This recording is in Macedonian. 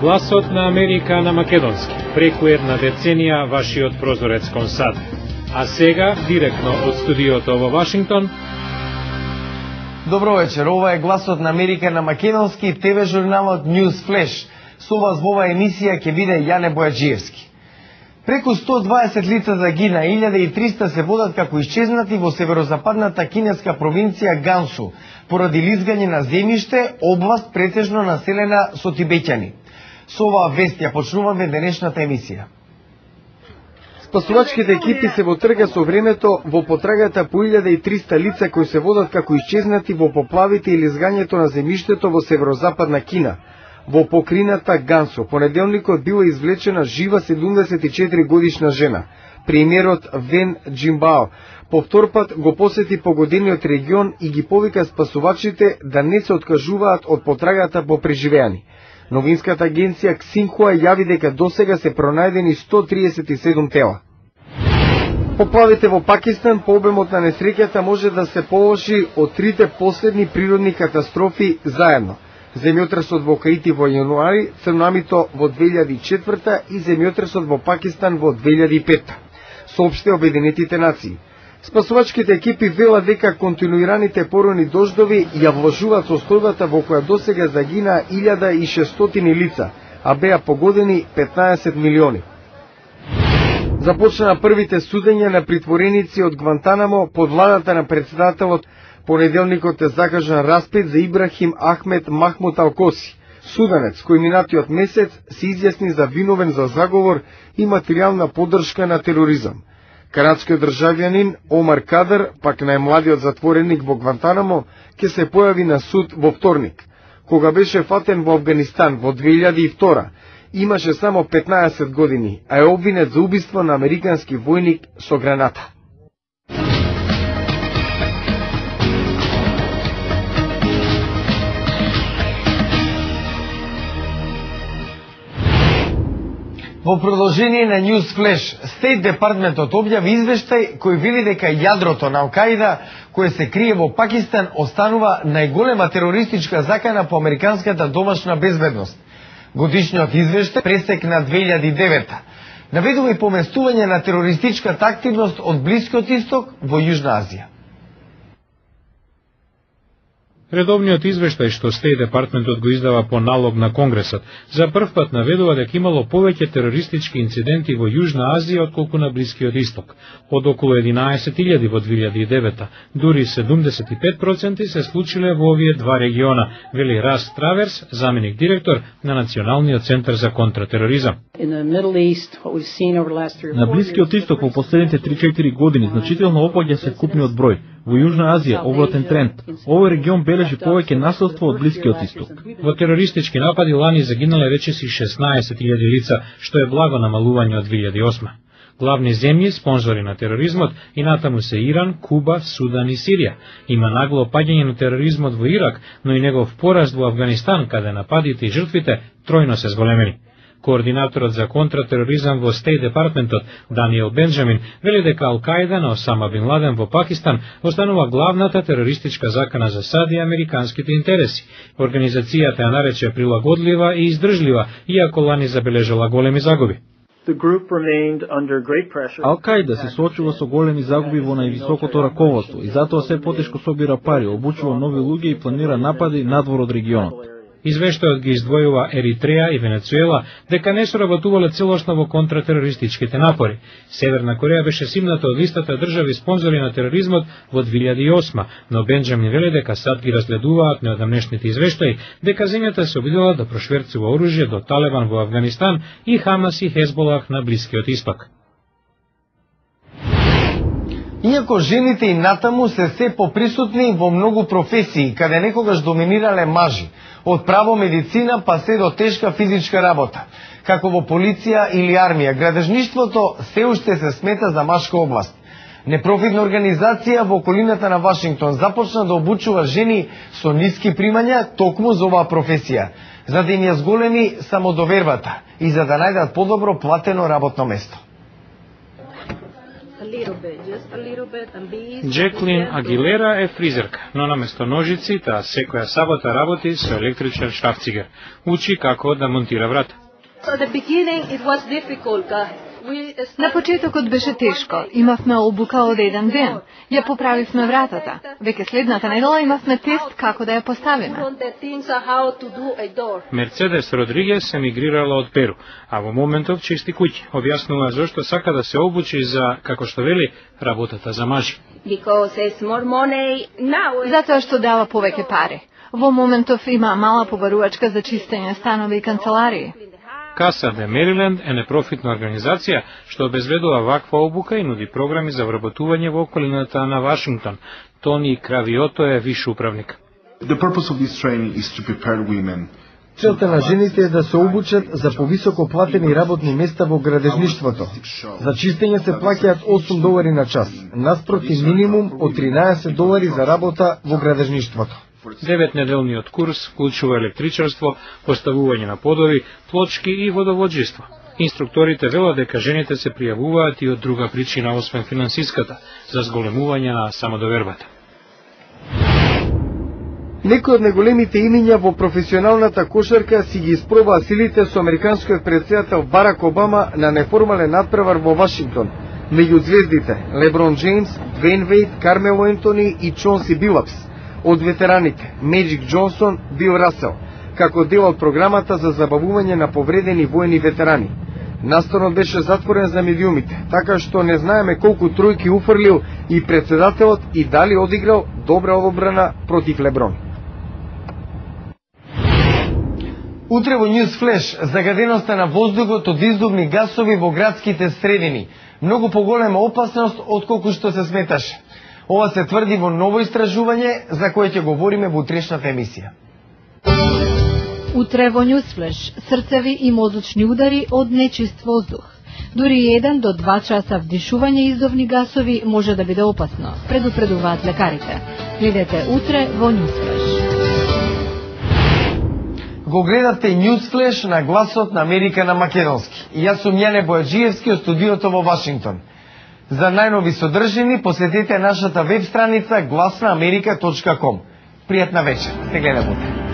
Гласот на Америка на македонски, преку една деценија вашиот прозорец кон САД. А сега, директно од студиото во Вашингтон. Добро вечер, ова е Гласот на Америка на македонски, ТВ журналот News Flash. Со вас во оваа емисија ќе биде Јане Бојаджиевски. Преку 120 лица загина, 1300 се водат како исчезнати во северозападната кинеска провинција Гансу, поради лизгање на земјиште, област претежно населена со тибеќани. Со оваа вест ја почнуваме денешната емисија. Спасувачките екипи се во трга со времето во потрагата по 1300 лица кои се водат како исчезнати во поплавите и лизгањето на земјиштето во северозападна Кина. Во покрината Гансу, понеделникот била извлечена жива 74 годишна жена. Премиерот Вен Джимбао повтор пат го посети погодениот регион и ги повика спасувачите да не се откажуваат од потрагата по преживеани. Новинската агенција Ксинхуа јави дека досега се пронајдени 137 тела. Поплавите во Пакистан по обемот на несреќата може да се полоши од трите последни природни катастрофи заедно. Земјотресот во Хаити во јануари, цунамито во 2004 и земјотресот во Пакистан во 2005. Соопшти Обединетите нации. Спасувачките екипи велат дека континуираните поройни дождови ја влошуваат состојбата во која досега загина 1600 лица, а беа погодени 15 милиони. Започна првите судења на притвореници од Гвантанамо под владата на председателот. Понеделникот е закажан распит за Ибрахим Ахмед Махмуд Алкоси, суданец кој минатиот месец се изјасни за виновен за заговор и материјална поддршка на тероризам. Канадскиот државјанин Омар Кадр, пак најмладиот затвореник во Гвантанамо, ќе се појави на суд во вторник. Кога беше фатен во Афганистан во 2002, имаше само 15 години, а е обвинет за убиство на американски војник со граната. Во продолжение на News Flash, State Департментот објави извештај кој вели дека јадрото на Ал-Каида, кое се крие во Пакистан, останува најголема терористичка закана по американската домашна безбедност. Годишниот извештај, пресек на 2009, наведува и поместување на терористичката активност од Блискиот Исток во Јужна Азија. Редовниот извештај што Стејт Департментот го издава по налог на Конгресот за прв пат наведува дека имало повеќе терористички инциденти во Јужна Азија отколку на Блискиот Исток. Од околу 11.000 во 2009, дури 75% се случиле во овие два региона, вели Рас Траверс, заменик директор на Националниот центар за контратероризам. На Блискиот Исток во последните 3-4 години значително опаѓа се купниот број. Во Јужна Азија обратен тренд. Овој регион бележи повеќе насилство од Блискиот Исток. Во терористички напади лани загинале речиси 16.000 лица, што е благо намалување од 2008. Главни земји спонзори на тероризмот и натаму се Иран, Куба, Судан и Сирија. Има нагло паѓање на тероризмот во Ирак, но и негов пораст во Афганистан, каде нападите и жртвите тројно се зголемени. Координаторот за контратероризам во Стејт Департментот Даниел Бенџамин вели дека Ал-Каида на Осама Бин Ладен во Пакистан останува главната терористичка закана за САД и американските интереси. Организацијата ја нарече прилагодлива и издржлива, иако лани забележала големи загуби. Ал-Каида се соочува со големи загуби во највисокото раководство и затоа се потешко собира пари, обучува нови луѓе и планира напади надвор од регионот. Извештајот ги издвојува Еритреја и Венецуела дека не соработувале целосно во контратерористичките напори. Северна Кореја беше симната од листата држави спонзори на тероризмот во 2008, но Бенџамин вели дека САД ги разгледуваат неодамнешните извештаи дека земјата се обидела да прошверцува оружје до Талебан во Афганистан и Хамас и Хезболах на Блискиот Исток. Иако жените и натаму се поприсутни во многу професии, каде некогаш доминирале мажи, од право медицина па се до тешка физичка работа, како во полиција или армија, градежништвото се уште се смета за машка област. Непрофитна организација во околината на Вашингтон започна да обучува жени со ниски примања токму за оваа професија, за да им ја зголеми самодовербата и за да најдат подобро платено работно место. Джеклин Агилера е фризерка, но наместо ножици, таа секоја сабота работи со електричен шрафцигер. Учи како да монтира врата. На почетокот беше тешко. Имавме обука од еден ден. Ја поправивме вратата. Веќе следната недела имавме тест како да ја поставиме. Мерцедес Родригес емигрирала од Перу, а во моментов чисти куќи. Објаснува зашто сака да се обучи за, како што вели, работата за мажи. Затоа што дава повеќе пари. Во моментов има мала побарувачка за чистење станови и канцеларии. Каса де Мериленд е непрофитна организација што обезбедува ваква обука и нуди програми за вработување во околината на Вашингтон. Тони Кравиото е виш управник. Целта на жените е да се обучат за повисоко платени работни места во градежништвото. За чистење се плаќаат $8 на час, наспроти минимум од $13 за работа во градежништвото. 9-неделниот курс вклучува електричарство, поставување на подови, плочки и водоводжество. Инструкторите велат дека жените се пријавуваат и од друга причина освен финансиската, за зголемување на самодовербата. Некои од најголемите имиња во професионалната кошарка си ги испробаа силите со американскиот претседател Барак Обама на неформален надпревар во Вашингтон. Меѓу звездите Леброн Джеймс, Двейн Вейд, Кармело Ентони и Чонси Билапс. Од ветераните Меджик Джонсон, Бил Расел, како дел од програмата за забавување на повредени воени ветерани. Настанот беше затворен за медиумите, така што не знаеме колку тројки уфрлил и претседателот и дали одиграл добра одбрана против Леброн. Утре во News Flash, загаденоста на воздухот од издувни гасови во градските средини. Многу поголема опасност отколку што се сметаше. Ова се тврди во ново истражување за кое ќе говориме во утрешната емисија. Утре во Newsflash, срцеви и мозочни удари од нечист воздух. Дури 1 до 2 часа вдишување издувни гасови може да биде опасно, предупредуваат лекарите. Гледате утре во Newsflash. Го гледате Newsflash на гласот на Америка на македонски. И јас сум Јане Бојаджиевски од студиото во Вашингтон. За најнови содржини посетете нашата веб страница glasnaamerika.com. Пријатна вечер. Се гледаме утре.